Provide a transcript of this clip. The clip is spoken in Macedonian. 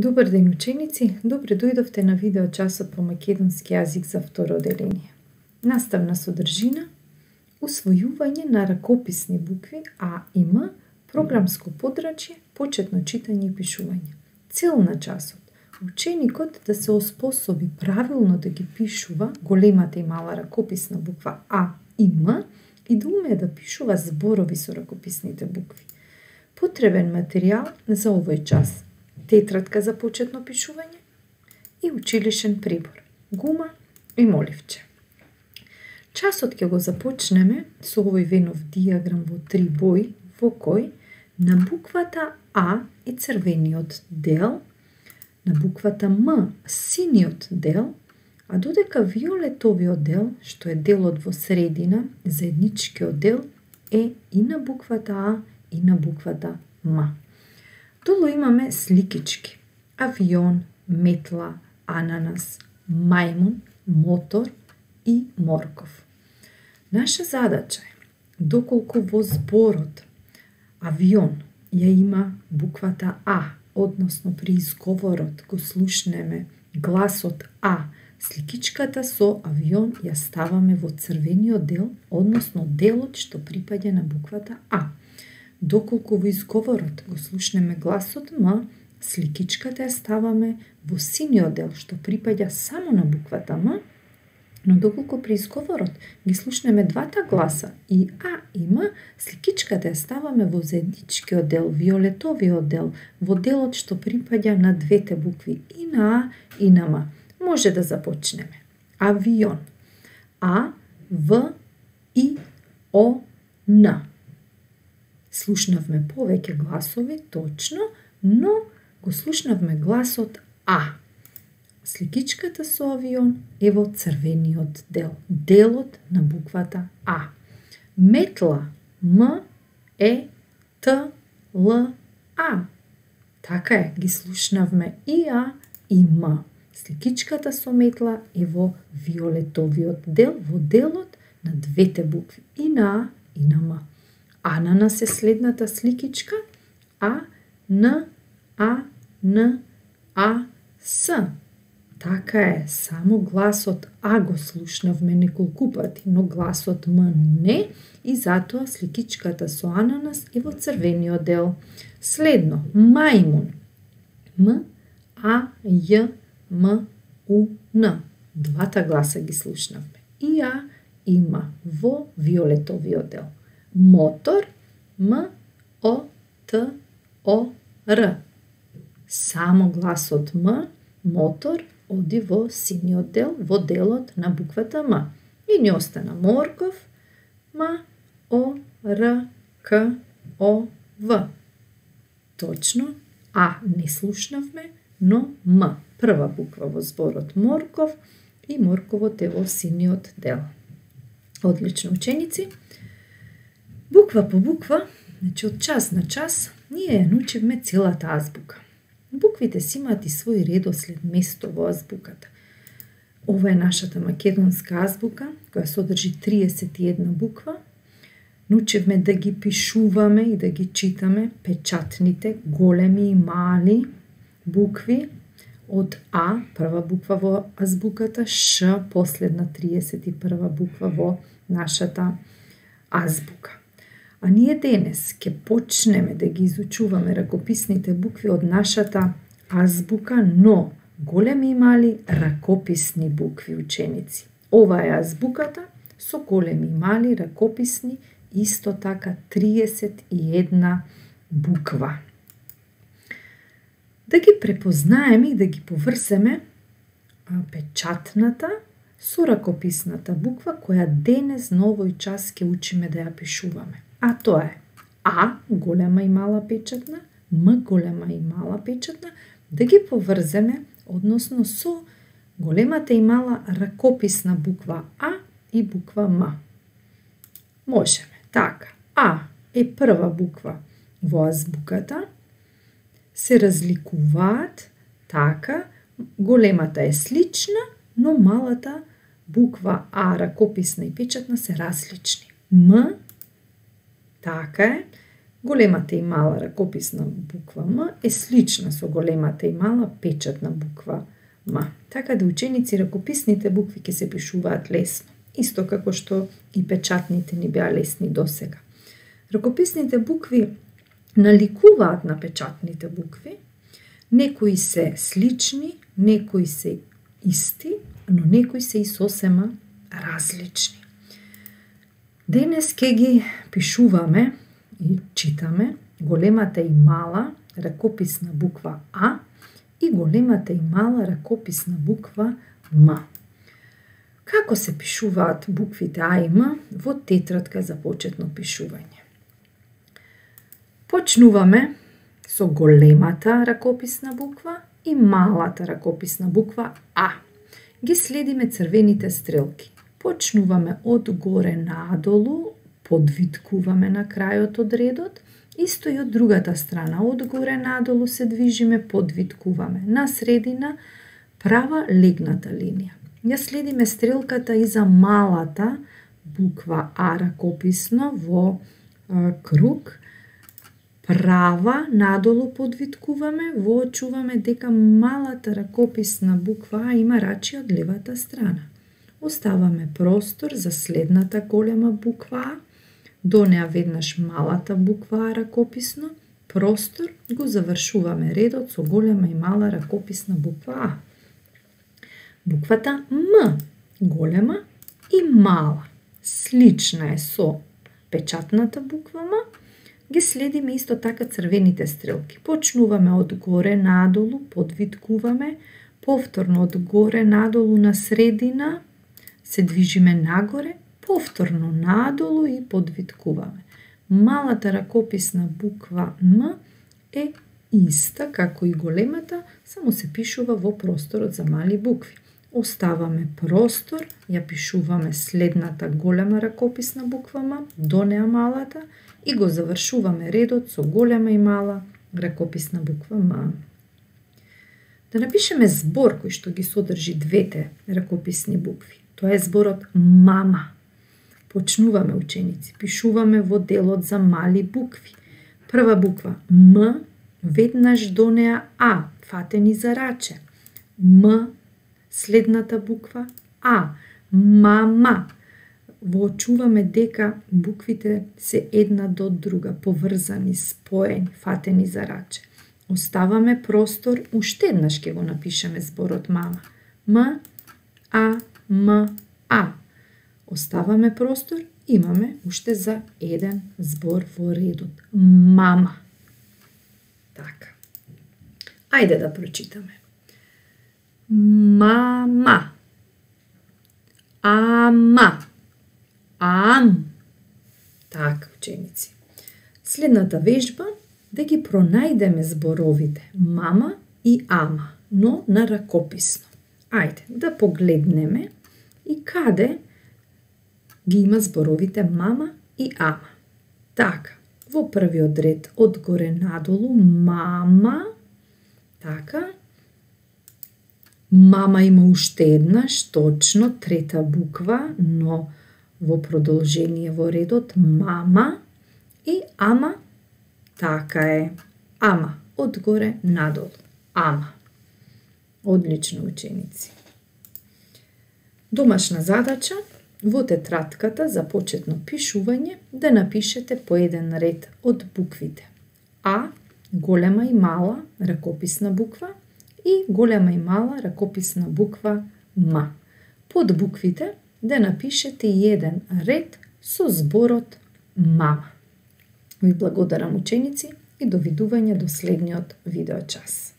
Добар ден, ученици! Добре дојдовте на видеочасот по македонски јазик за второ одделение. Наставна содржина, усвојување на ракописни букви А и М, програмско подрачје, почетно читање и пишување. Цел на часот: ученикот да се оспособи правилно да ги пишува големата и мала ракописна буква А и М и да умее да пишува зборови со ракописните букви. Потребен материјал за овој час: тетрадка за почетно пишување и училишен прибор, гума и моливче. Часот ќе го започнеме со овој венов дијаграм во 3 бои, во кој на буквата А е црвениот дел, на буквата М синиот дел, а додека виолетовиот дел, што е делот во средина, заедничкиот дел, е и на буквата А и на буквата М. Долу имаме сликички: авион, метла, ананас, мајмун, мотор и морков. Наша задача е, доколку во зборот авион ја има буквата А, односно при изговорот го слушнеме гласот А, сликичката со авион ја ставаме во црвениот дел, односно делот што припаѓа на буквата А. Доколку во изговорот го слушнеме гласот М, сликичката ја ставаме во синиот дел што припаѓа само на буквата М, но доколку при изговорот ги слушнеме двата гласа и А и М, сликичката ја ставаме во заедничкиот дел, виолетовиот дел, во делот што припаѓа на двете букви и на А и на М. Може да започнеме. Авион. А, В, И, О, Н. Слушнавме повеќе гласови, точно, но го слушнавме гласот А. Сликичката со авион е во црвениот дел, делот на буквата А. Метла, М, Е, Т, Л, А. Така е, ги слушнавме и А и М. Сликичката со метла е во виолетовиот дел, во делот на двете букви, и на А и на М. Ананас е следната сликичка: А, Н, А, Н, А, С. Така е, само гласот А го слушнавме неколку пати, но гласот М не, и затоа сликичката со ананас е во црвениот дел. Следно, мајмун. М, А, Ј, М, У, Н. Двата гласа ги слушнавме, и А и М, во виолетовиот дел. Мотор, М, О, Т, О, Р. Само гласот М, мотор, оди во синиот дел, во делот на буквата М. И ни остана морков: М, О, Р, К, О, В. Точно, А не слушнавме, но М, прва буква во зборот морков, и морковот е во синиот дел. Одлично, ученици! Буква по буква, значи од час на час, ние ја научивме целата азбука. Буквите си имаат и свој редослед, место во азбуката. Ова е нашата македонска азбука, која содржи 31 буква. Научивме да ги пишуваме и да ги читаме печатните, големи и мали букви, од А, прва буква во азбуката, Ш, последна 31 буква во нашата азбука. А ние денес ќе почнеме да ги изучуваме ракописните букви од нашата азбука, но големи и мали ракописни букви, ученици. Ова е азбуката со големи и мали ракописни, исто така 31 буква. Да ги препознаеме и да ги поврземе печатната со ракописната буква која денес на овој час ќе учиме да ја пишуваме. А тоа е А, голема и мала печатна, М, голема и мала печатна, да ги поврземе, односно со големата и мала ракописна буква А и буква М. Можеме. Така, А е прва буква во азбуката, се разликуваат, така, големата е слична, но малата буква А, ракописна и печатна, се различни. М, така е, Големата и мала ракописна буква М е слична со големата и мала печатна буква М. Така да ученици ракописните букви ќе се пишуваат лесно, исто како што и печатните ни беа лесни досега. Ракописните букви наликуваат на печатните букви, некои се слични, некои се исти, но некои се и сосема различни. Денес ќе ги пишуваме и читаме големата и мала ракописна буква А и големата и мала ракописна буква М. Како се пишуваат буквите А и М во тетрадка за почетно пишување? Почнуваме со големата ракописна буква и малата ракописна буква А. Ги следиме црвените стрелки. Почнуваме од горе надолу, подвиткуваме на крајот од редот, исто и од другата страна, од горе надолу се движиме, подвиткуваме. На средина права легната линија. Ја следиме стрелката и за малата буква А ракописно во круг, права надолу подвиткуваме, воочуваме дека малата ракописна буква А има рачи од левата страна. Оставаме простор за следната голема буква А, до неа веднаш малата буква А ракописно, простор, го завршуваме редот со голема и мала ракописна буква А. Буквата М, голема и мала, слична е со печатната буква М, ги следиме исто така црвените стрелки. Почнуваме од горе надолу, подвиткуваме, повторно од горе надолу на средина, се движиме нагоре, повторно надолу и подвиткуваме. Малата ракописна буква М е иста како и големата, само се пишува во просторот за мали букви. Оставаме простор, ја пишуваме следната голема ракописна буква М, до неа малата и го завршуваме редот со голема и мала ракописна буква М. Да напишеме збор кој што ги содржи двете ракописни букви. Тоа е зборот мама. Почнуваме, ученици, пишуваме во делот за мали букви. Прва буква М, веднаш до неа А, фатени за раче. М, следната буква А, мама. Воочуваме дека буквите се една до друга, поврзани, споени, фатени за раче. Оставаме простор, уште еднаш ќе го напишеме зборот мама. М, А, М, А. Оставаме простор, имаме уште за еден збор во редот. Мама. Така. Ајде да прочитаме. Мама. Ама. Ам. Така, ученици. Следната вежба да ги пронајдеме зборовите мама и ама, но на ракописно. Ајде да погледнеме и каде ги има зборовите мама и ама. Така, во првиот ред од горе надолу мама, така, мама има уште еднаш, точно, трета буква, но во продолжение во редот мама и ама, така е, ама, од горе надолу, ама. Одлично, ученици. Домашна задача во тетратката за почетно пишување да напишете по еден ред од буквите А, голема и мала ракописна буква и голема и мала ракописна буква М. Под буквите да напишете еден ред со зборот мама. Ви благодарам, ученици, и довидување до следниот видеочас.